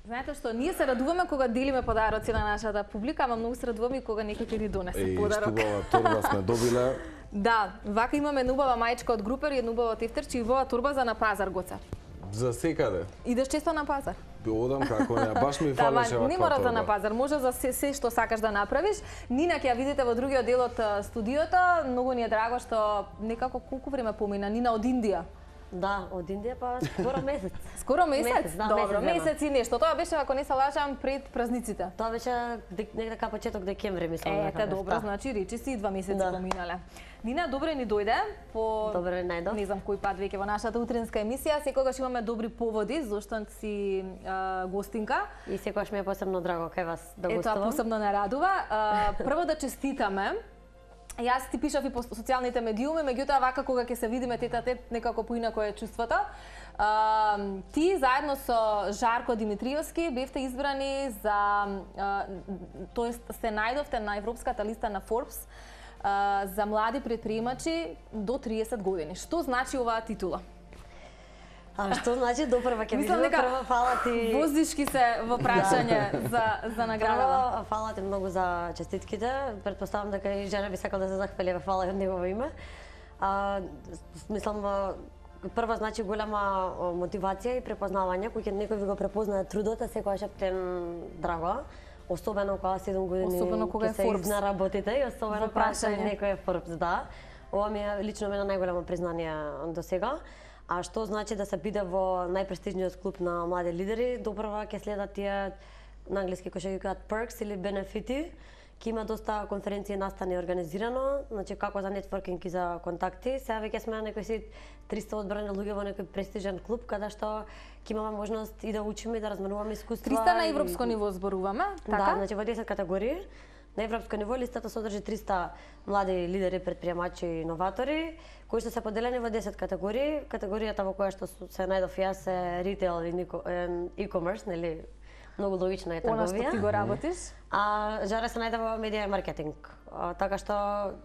Знаете што, ние се радуваме кога делиме подароци на нашата публика, ама многу се радуваме и кога некој ќе ни донесе подарок. Штубава торба сме добиле. Да, вака имаме убава мајчка од Групер и убава тефтерче и убава торба за на пазар, Гоце. За секаде. Идеш често на пазар? Одам како не, баш ми фалеше ваква не мора торба. да на пазар, може за се што сакаш да направиш. Нина ќе ја видите во другиот дел од студиото. Многу ни е драго што некако колку време помина Нина од Индија. Да, од Индија па скоро месец. Скоро месец? Да, добро, месец и нешто. Тоа беше, ако не се лажам, пред празниците. Тоа беше некаде кај почеток декември, мислам. Ете, добро, значи речи си 2 месеци поминале. Нина, добре ни дојде по Добре најдов. Не знам кој пат веќе во нашата утринска емисија. Секогаш имаме добри поводи зашто си гостинка. И секогаш ми е посебно драго кај вас да гостувам. Тоа посебно не радува. Прво да честитаме. Јас ти пишав и по социјалните медиуми, меѓутоа вака кога ќе се видиме тет-а-тет, некако поинако е чувството. Ти заедно со Жарко Димитриевски бевте избрани за, тоест се најдовте на европската листа на Forbes за млади предприемачи до 30 години. Што значи оваа титула? А што значи допрва ќе видиме, прво фала ти. Воздишки се во прашање за наградава. Фала ти многу за честитките. Претпоставам дека и жена би сакал да се захвали, фала и од негово име. Мислам прва значи голема мотивација и препознавање, кој некој ви го препознае трудот, секогаш е плен драго. Особено кога 7 години особено кога е се Forbes изнаработите и особено прашање некој е Forbes, да. Ова ми е лично мене најголемо признание до сега. А што значи да се биде во најпрестижниот клуб на млади лидери? Допрва ќе следат тие на англиски кои ќе ги кажат perks или бенефити. Ќе има доста конференции настани организирано, значи како за нетворкинг и за контакти. Сега веќе сме некои си 300 одбрани луѓе во некој престижен клуб каде што ќе имаме можност и да учиме и да разменуваме искуства. 300 на европско ниво зборуваме, така? Да, значи во 10 категории. На европско ниво листата содржи 300 млади лидери, предприемачи и иноватори, кои што се поделени во 10 категории. Категоријата во која што се најдов јас е retail и e-commerce, нели? Многу логична е трговија. Она што ти го работиш? А Жара се најде во медија и маркетинг. Така што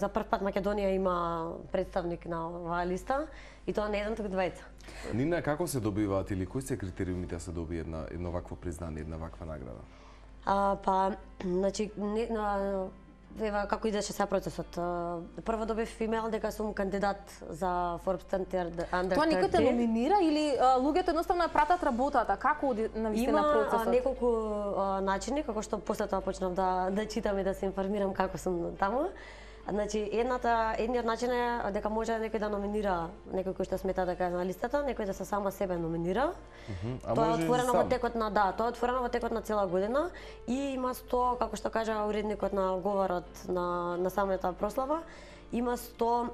за прв пат Македонија има представник на оваа листа и тоа не еден, туку двајца. Нина, како се добиваат или кои се критериумите да се добие едно вакво признание, една ваква награда? Значи, ева како идеше сега процесот. Прво добив имейл дека сум кандидат за Forbes Under 30. Тоа некој те номинира или луѓето едноставно ја пратат работата? Како навистина процесот? Има неколку начини како што после тоа почнав да читам и да се информирам како сум таму. Значи, едниот начин е дека може некој да номинира некој кој што смета дека е на листата, некој да се само себе номинира. Тоа е отворено во текот на тоа е отворено во текот на цела година и има 100, како што кажа уредникот на говорот на самата прослава, има 100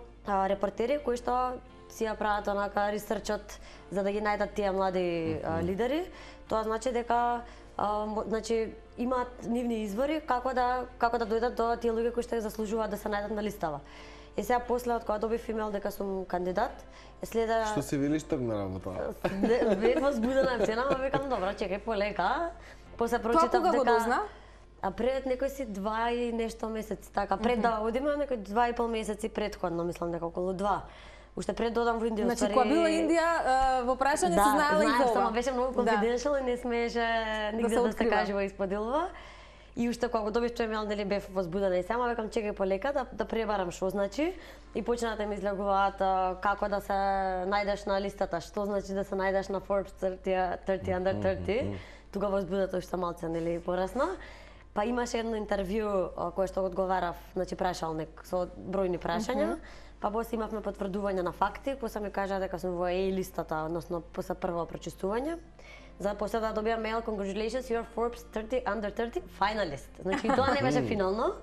репортери кои што си ја прават онака ресерчот за да ги најдат тие млади лидери. Тоа значи дека значи имаат нивни извори како да дојдат до тие луѓе кои што заслужуваат да се најдат на листава. И сега после од кога добив имейл дека сум кандидат, следа Што си велиш тргна работа? Бев возбудена цена, ама викам добро, чекај полека. После прочитав дека Тоа кога го дозна? А пред некој си 2 и нешто месеци, така пред да одиме некој 2,5 месеци претходно, мислам дека околу 2. Уште пред додам во Индија. Значи, кога била Индија, во прашање се знаела и за ова. Само беше многу конфиденцијално и не смееше нигде да се кажува и споделува. И уште кога го добив тој имейл, нели бев возбудена и сама, викам чекај полека да пребарам што значи и почнаа да ми излегуваат како да се најдеш на листата, што значи да се најдеш на Forbes 30 Under 30. Тука возбудата уште малце нели порасна. Па имаше едно интервју кое што одговарав, значи прашалник со бројни прашања. Па после имавме потврдување на факти, после ми кажа дека сум во A листата, односно после прво прочистување. За после да добиам мејл congratulations you're Forbes 30 Under 30 finalist. Значи тоа не беше финално.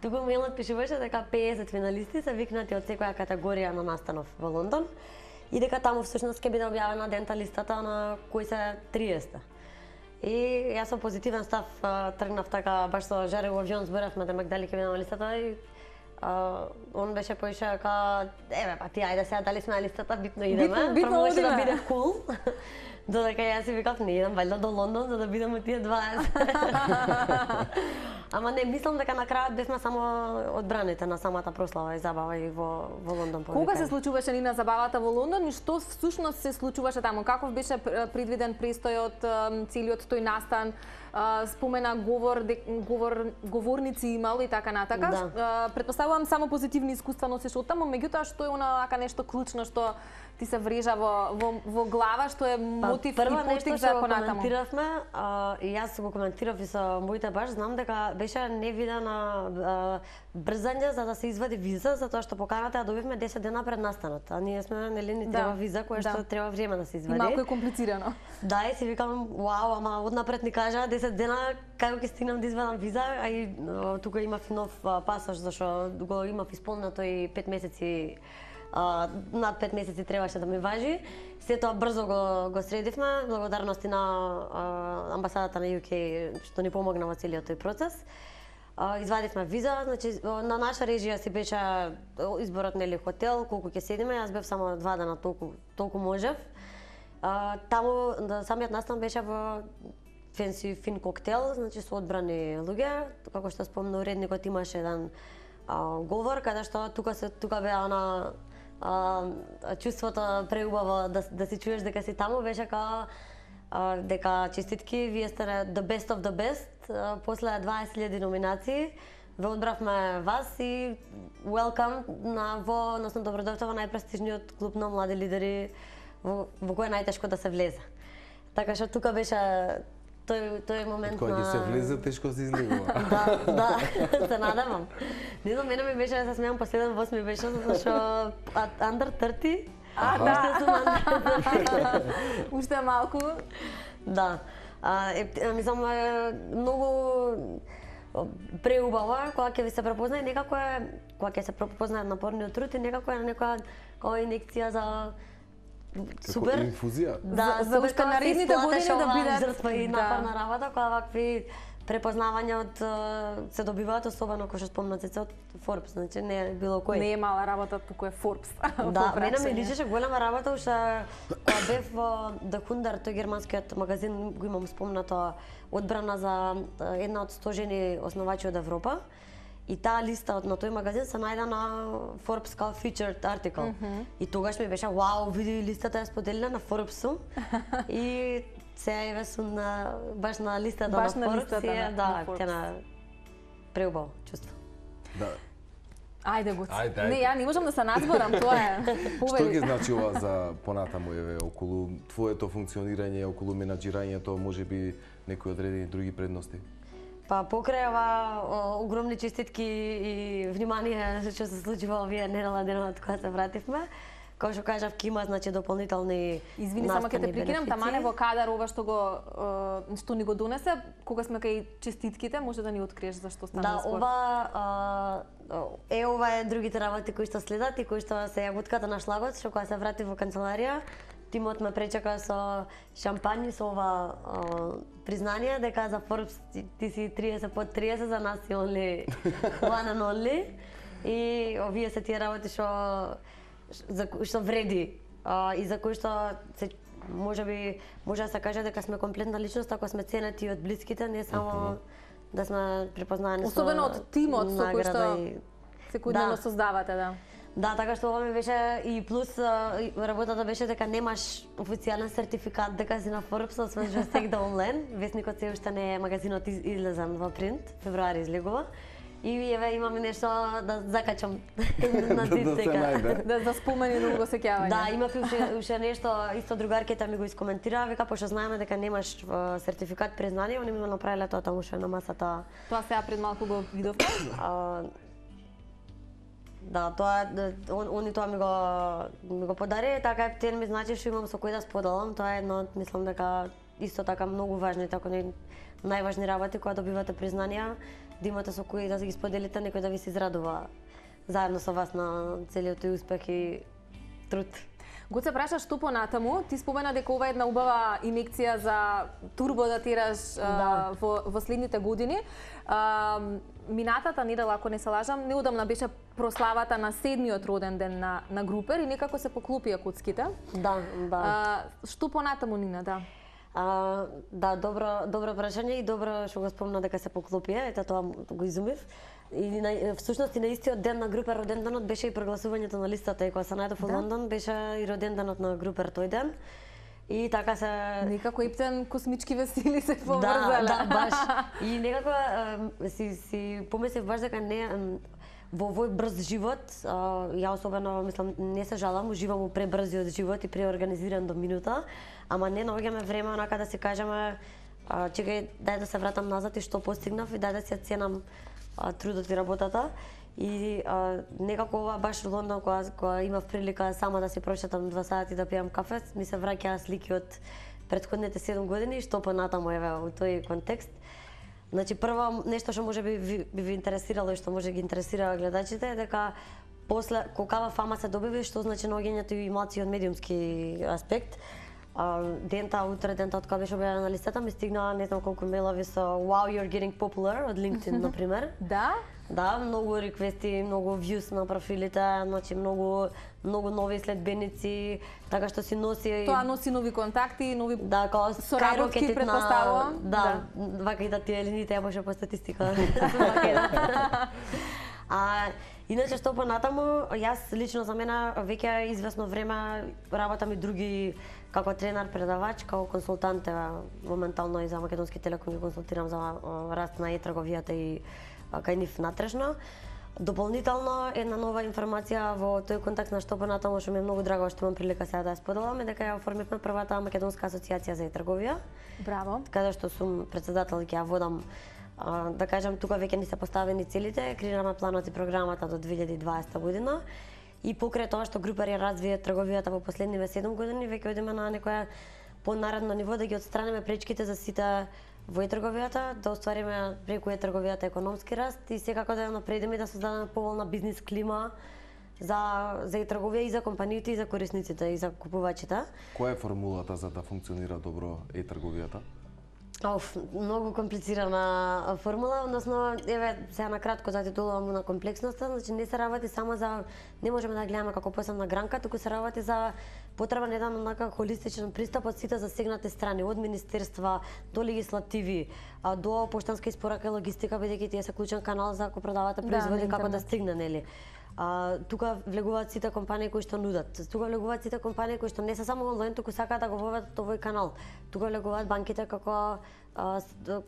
Туку мејлот пишуваше дека 50 финалисти се викнати од секоја категорија на настанов во Лондон и дека таму всушност ќе биде објавена дента листата на кои се 30. И јас со позитивен став тргнав така баш со Жаре во авион зборавме демек дали ќе биде на листата и он беше поиша дека еве па ти ајде сега дали сме на листата битно идеме. Битно може да биде кул. Додека јас си викав, не идам валјда до Лондон за да бидам од тие 20. Ама не, мислам дека на крајот бевме само одбраните на самата прослава и забава и во Лондон. Кога се случуваше Нина забавата во Лондон и што всушност се случуваше таму? Каков беше предвиден престојот, целиот тој настан? Спомена говорници имало и така натака. Да. Предпоставувам само позитивни искуства носиш од таму, меѓутоа што е онака нешто клучно што ти се врежа во глава, што е мотив и поттик за понатаму? Коментиравме, и јас го коментирав и со моите баш, знам дека беше невидена брзање за да се извади виза, затоа што поканата ја добивме 10 дена пред настанот, а ние сме нели ни треба виза која што треба време да се извади. Малку е комплицирано. Да, и си викам, вау, ама однапред ни кажа 10 дена како ќе стигнам да извадам виза, а и тука имав нов пасош зашто го имав исполнето и 5 месеци. Над 5 месеци требаше да ми важи. Се тоа брзо го средивме, благодарности на амбасадата на UK што ни помогна во целиот тој процес. Извадивме виза, значи на наша режија си беше изборот нели хотел, колку ќе седиме, јас бев само 2 дена толку можев. Таму самиот настан беше во фенси фин коктел, значи со одбрани луѓе, како што спомна уредникот имаше еден говор каде што тука беа на чувството преубаво да си чуеш дека си таму, беше као дека честитки, вие сте the best of the best, после 20.000 номинации ве одбравме вас и welcome односно добродојавте во најпрестижниот клуб на млади лидери во кој е најтешко да се влезе. Така што тука беше тој момент кога ќе се влезе, тешко се излегува. Да, се надевам. Не знам, мене ми беше да се смеам последен воз ми беше, зашто under 30. Уште сум under 30. Уште малку. Да. Мислам, многу преубава кога ќе ви се препознае, некако е, кога ќе се препознае напорниот труд и некако е некоја инекција за супер инфузија. Да, за уште наредните години да бидат жртва и напорна работа, кога вакви препознавања се добиваат, особено кога што спомна Цеце од Forbes, значи не е било кој. Не е мала работа, туку е Forbes. Да, мене ми личеше голема работа, уште кога бев во The Hundar, тој германскиот магазин, го имам спомнато, одбрана за една од 100 жени основачи од Европа. И таа листа на тој магазин се најде на Forbes као featured article. И тогаш ми беше, вау, види листата е споделена на Forbes-у. И сега еве сум баш на листата на Forbes. Да, ќе на преубаво чувство. Да. Ајде го. Не, ја не можам да се надзборам, тоа е. Што ги значи ова за понатаму, еве, околу твоето функционирање, околу менаџирањето, можеби некои одредени други предности? Па покрај ова огромни честитки и внимание што се случува овие недела денот кога се вративме, како што кажав, ќе има значи дополнителни Извини, само ќе те прекинам, тамане во кадар ова што ни го донесе, кога сме кај честитките, може да ни откриеш зашто стана збор. Да, ова е другите работи кои што следат и кои што се јагутката на шлагот, што кога се врати во канцеларија, тимот ме пречека со шампањи, со ова признание дека за Forbes ти си 30 под 30, за нас си only one and only. И овие се тие работи што вреди и за кои што се може да се каже дека сме комплетна личност ако сме ценети од блиските, не само да сме препознаени со особено од тимот со кој што секојдневно создавате, да. Да, така што ова ми беше и плюс работата беше дека немаш официјален сертификат дека си на Forbes, освен што стек да онлайн. Весникот се уште не е, магазинот излезан во принт, февруари излегува. И еве имаме нешто да закачам на зид дека. Да спомени долго сеќавање. Да, имав уште нешто, исто другарката ми го искоментира, вика пошто знаеме дека немаш сертификат признание, они ми го направиле тоа таму уште на масата. Тоа сега пред малку го видовме? Да, они тоа ми го подари, така ептен ми значи што имам со кој да споделам, тоа е едно, мислам дека исто така многу важни, така најважни работи кога добивате признанија, да имате со кој да ги споделите, некој да ви се израдува заедно со вас на целиот тој успех и труд. Гоце, праша што понатаму, ти спомена дека ова е една убава инекција за турбо да тираш во следните години. Минатата недела, ако не се лажам, неодамна беше прославата на 7-миот роден ден на Групер и некако се поклопија куцките. Да. Што понатаму, Нина, да? Да, добро прашање и добро што го спомна дека се поклопија, ето тоа го изумив. И всушност и на истиот ден на Групер роден денот беше и прогласувањето на листата и кога се најдов во Лондон беше и роден денот на Групер тој ден. И така се некако ептен космички весели се поврзале. Да, баш. И некако си помислив баш дека не во овој брз живот, ја особено мислам не се жалам, уживам у пребрзиот живот и преорганизиран до минута, ама не наоѓаме време онака да си кажеме чекај, дај да се вратам назад и што постигнав и дај да си ја ценам трудот и работата. И некако ова баш во Лондон кога имав прилика сама да си прошетам 2 сати да пијам кафе, ми се враќаа слики од претходните 7 години, што понатаму еве во тој контекст. Значи прво нешто што може би ви интересирало и што може ги интересира гледачите е дека после колкава фама се добива, што значи наоѓањето и емоции од медиумски аспект. Утре кога беше објавена на листата ми стигнаа не знам колку мејлови со wow you're getting popular од LinkedIn на пример. Да, многу реквести, многу views на профилите, значи многу нови следбеници, така што си носи тоа носи нови контакти, нови соработки претпоставувам. Да, вака и да ти елините ја може по статистика. Иначе што понатаму, јас лично за мене веќе извесно време работам и други како тренер, предавач, како консултант, моментално и за Македонски Телеком ги консултирам за раст на трговијата и кај нив натрешно. Дополнително една нова информација во тој контакт на што понатаму што ми е многу драго што имам прилика сега да ја споделам е дека ја оформивме првата Македонска асоциација за трговија. Браво. Каде што сум председател и ќе ја водам. Да кажам, тука веќе ни се поставени целите, креираме планот и програмата до 2020 година и покрај тоа што Групер ја развие трговијата во последниве 7 години, веќе одиме на некоја понаредно ниво да ги отстраниме пречките за сите во трговијата, да оствариме преку трговијата економски раст и секако да ја напредиме и да создадеме поволна бизнис клима за трговија и за компаниите и за корисниците и за купувачите. Која е формулата за да функционира добро трговијата? Многу комплицирана формула, односно, еве, сега на кратко затитулувам на комплексноста, значи не се работи само за, не можеме да гледаме како посебна гранка, туку се работи за потребен еден онака холистичен пристап од сите засегнати страни, од министерства до легислативи, до поштанска испорака и логистика, бидејќи тие се клучен канал за ако продавате производи како да стигне, нели? Тука влегуваат сите компании кои што нудат. Тука влегуваат сите компании кои што не се само онлайн, туку сакаат да го воведат овој канал. Тука влегуваат банките како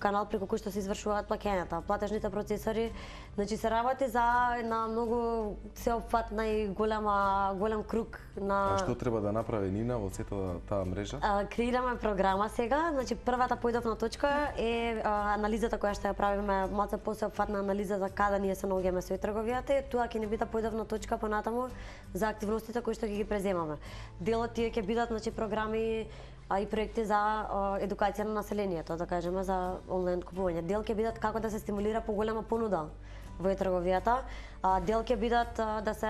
канал преку кој што се извршуваат плаќањата, платежните процесори. Значи се работи за една многу сеопфатна и голем круг на. Што треба да направи Нина во сета таа мрежа? Креираме програма сега. Значи првата појдовна точка е анализата која што ја правиме, малку посеопфатна анализа за каде ние се наоѓаме со трговијата. Тоа ќе ни биде појдовна точка понатаму за активностите кои што ги преземаме. Дел од тие ќе бидат значи програми и проекти за едукација на населението, да кажеме за онлайн купување. Дел ќе бидат како да се стимулира поголема понуда во трговијата. Дел ќе бидат да се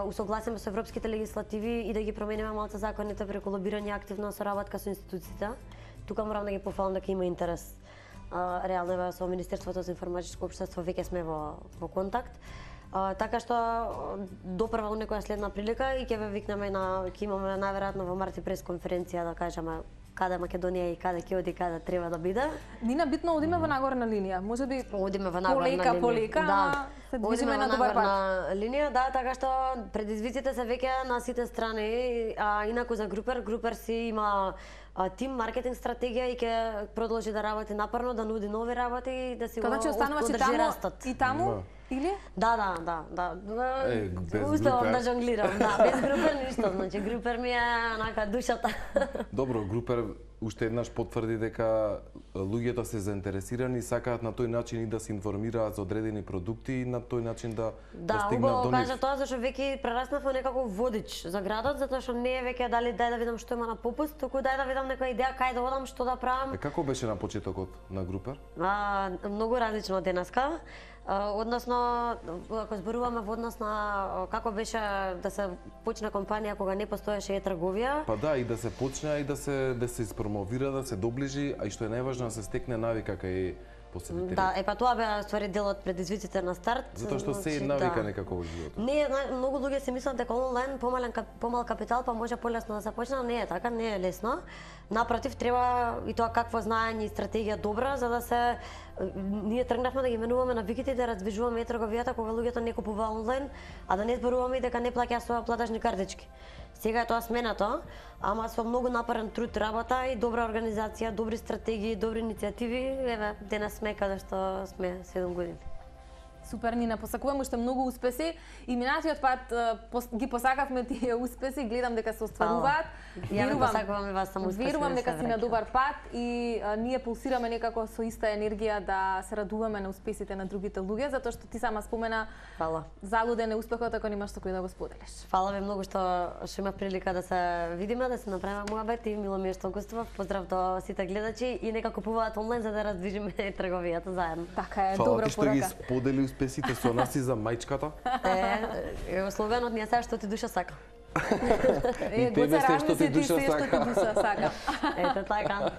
усогласиме со европските легислативи и да ги промениме малку законите преку лобирање, активна соработка со институциите. Тука морам да ги пофалам дека има интерес. Реално со Министерството за информатичко општество веќе сме во контакт. Така што допрва у некоја следна прилика и ќе ве викнеме ќе имаме најверојатно во март пресконференција да кажеме каде Македонија и каде ќе оди, каде треба да биде. Нина, битно одиме во нагорна линија. Можеби одиме во нагорна линија. Полека, да. Се движиме на добар пат. Линија, да, така што предизвиците се веќе на сите страни, инаку за Групер си има тим маркетинг стратегија и ќе продолжи да работи напорно, да нуди нови работи и да си го одржи растот. И таму или? Да. Успевам да жонглирам, да. Без Групер ништо, значи Групер ми е онака душата. Добро, Групер уште еднаш потврди дека луѓето се заинтересирани и сакаат на тој начин и да се информираат за одредени продукти и на тој начин да стигнат до нив. Да, кажа тоа зашто веќе прераснав во некако водич за градот, затоа што не е веќе дали дај да видам што има на попуст, туку дај да видам некоја идеја кај да одам, што да правам. Како беше на почетокот на Групер? Многу различно од денеска. Односно, ако зборуваме во однос на како беше да се почне компанија кога не постоеше трговија. Па да, и да се почне и да се испромовира, да се доближи, а и што е најважно да се стекне навика кај посетители. Да, па тоа беа ствари дел од предизвиците на старт. Затоа што се навика некако во животот. Не, многу луѓе си мислат дека онлайн помал капитал па може полесно да се почне, не е така, не е лесно. Напротив, треба и тоа какво знаење и стратегија добра за да се ние тргнавме да ги менуваме навиките и да раздвижуваме трговијата кога луѓето не купува онлайн, а да не зборуваме и дека не плаќа со платежни картички. Сега е тоа сменато, ама со многу напорен труд, работа и добра организација, добри стратегии, добри иницијативи, еве денес сме каде што сме 7 години. Супер, Нина, посакувам уште многу успеси и минатиот пат ги посакавме тие успеси, гледам дека се остваруваат. Ја ви посакувам и вас само успеси. Верувам дека си на добар пат и ние пулсираме некако со иста енергија да се радуваме на успесите на другите луѓе, затоа што ти сама спомена залуден е успехот ако немаш со кој да го споделиш. Фала ви многу што имав прилика да се видиме, да се направиме муабет и мило ми е што гостував. Поздрав до сите гледачи и нека купуваат онлайн за да раздвижиме трговијата заедно. Така е, добра порака. Фала ти што ги сподели успесите со нас и за мајчката. Словенот ни е се што ти душа сака. И тебе се што ти душа сака. Ето така.